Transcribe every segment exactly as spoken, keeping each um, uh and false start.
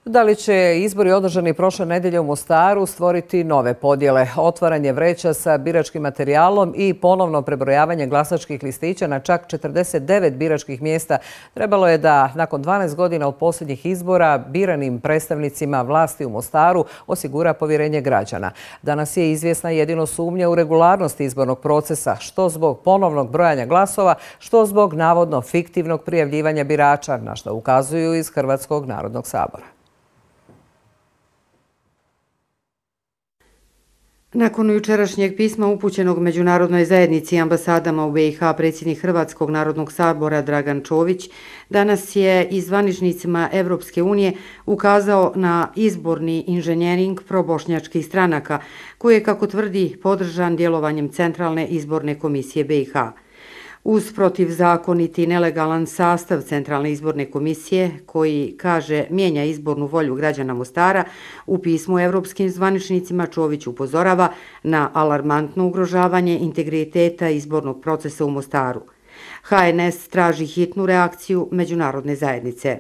Da li će izbori održani prošle nedelje u Mostaru stvoriti nove podjele, otvaranje vreća sa biračkim materijalom i ponovno prebrojavanje glasačkih listića na čak četrdeset devet biračkih mjesta trebalo je da nakon dvanaest godina od posljednjih izbora biranim predstavnicima vlasti u Mostaru osigura povjerenje građana. Danas je izvjesna jedino sumnja u regularnost izbornog procesa, što zbog ponovnog brojanja glasova, što zbog navodno fiktivnog prijavljivanja birača, na što ukazuju iz Hrvatskog narodnog sabora. Nakon jučerašnjeg pisma upućenog međunarodnoj zajednici i ambasadama u B i H, predsjednik Hrvatskog narodnog sabora Dragan Čović danas je i zvaničnicima Evropske unije ukazao na izborni inženjering probošnjačkih stranaka, koji je, kako tvrdi, podržan djelovanjem Centralne izborne komisije B i H. Uz protivzakoniti i nelegalan sastav Centralne izborne komisije, koji, kaže, mijenja izbornu volju građana Mostara, u pismu evropskim zvaničnicima Čović upozorava na alarmantno ugrožavanje integriteta izbornog procesa u Mostaru. H N S traži hitnu reakciju međunarodne zajednice.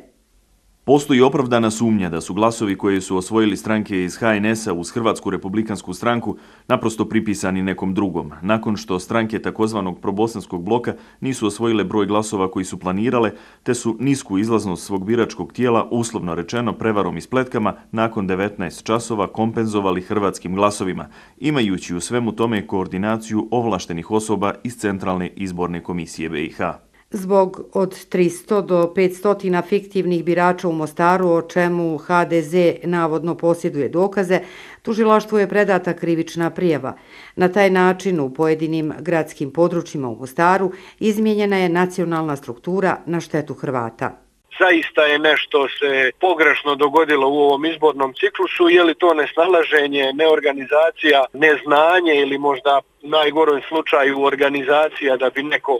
Postoji opravdana sumnja da su glasovi koje su osvojili stranke iz H N S-a uz Hrvatsku republikansku stranku naprosto pripisani nekom drugom, nakon što stranke takozvanog probosanskog bloka nisu osvojile broj glasova koji su planirale, te su nisku izlaznost svog biračkog tijela, uslovno rečeno prevarom i spletkama, nakon devetnaest časova kompenzovali hrvatskim glasovima, imajući u svemu tome koordinaciju ovlaštenih osoba iz Centralne izborne komisije B i H. Zbog od tristo do petsto fiktivnih birača u Mostaru, o čemu H D Z navodno posjeduje dokaze, tužilaštvu je predata krivična prijava. Na taj način u pojedinim gradskim područjima u Mostaru izmijenjena je nacionalna struktura na štetu Hrvata. Zaista je nešto se pogrešno dogodilo u ovom izbornom ciklusu, je li to nesnalaženje, neorganizacija, neznanje ili možda u najgorem slučaju organizacija da bi neko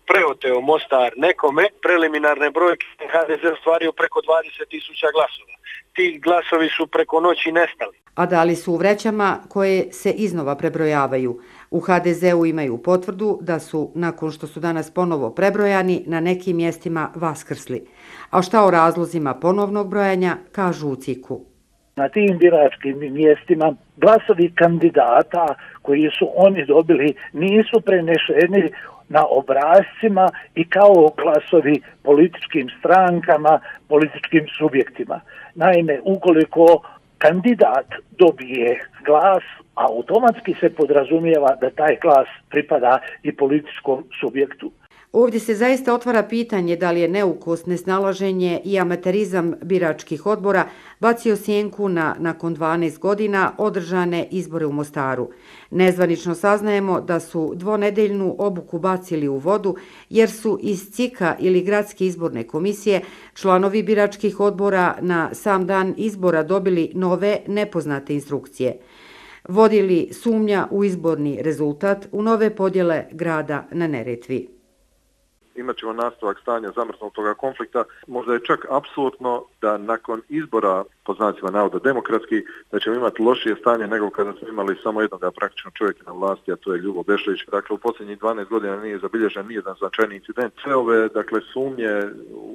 preoteo Mostar nekome. Preliminarne brojke H D Z ostvario preko dvadeset tisuća glasova. Ti glasovi su preko noći nestali. A da li su u vrećama koje se iznova prebrojavaju? U H D Z-u imaju potvrdu da su, nakon što su danas ponovo prebrojani, na nekim mjestima vaskrsli. A šta o razlozima ponovnog brojanja, kažu u C I K-u. Na tim biračkim mjestima glasovi kandidata koji su oni dobili nisu prenešeni na obrascima i kao glasovi političkim strankama, političkim subjektima. Naime, ukoliko kandidat dobije glas, automatski se podrazumijeva da taj glas pripada i političkom subjektu. Ovdje se zaista otvara pitanje da li je neukost, nesnalaženje i amaterizam biračkih odbora bacio sjenku na, nakon dvanaest godina, održane izbore u Mostaru. Nezvanično saznajemo da su dvonedeljnu obuku bacili u vodu jer su iz C I K-a ili Gradske izborne komisije članovi biračkih odbora na sam dan izbora dobili nove nepoznate instrukcije. Vodili sumnja u izborni rezultat, u nove podjele grada na Neretvi. Imat ćemo nastavak stanja zamrznutoga konflikta. Možda je čak apsolutno da nakon izbora, po znacima navoda demokratski, da ćemo imati lošije stanje nego kada smo imali samo jednog praktično čovjeka na vlasti, a to je Ljubo Bešlić. Dakle, u posljednjih dvanaest godina nije zabilježen nijedan značajni incident. Sve ove, dakle, sumnje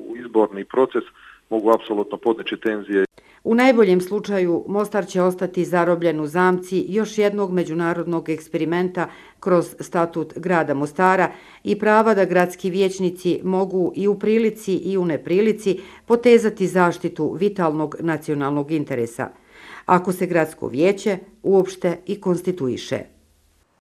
u izborni proces mogu apsolutno podići tenzije. U najboljem slučaju Mostar će ostati zarobljen u zamci još jednog međunarodnog eksperimenta kroz statut grada Mostara i prava da gradski vijećnici mogu i u prilici i u neprilici potezati zaštitu vitalnog nacionalnog interesa, ako se gradsko vijeće uopšte i konstituiše.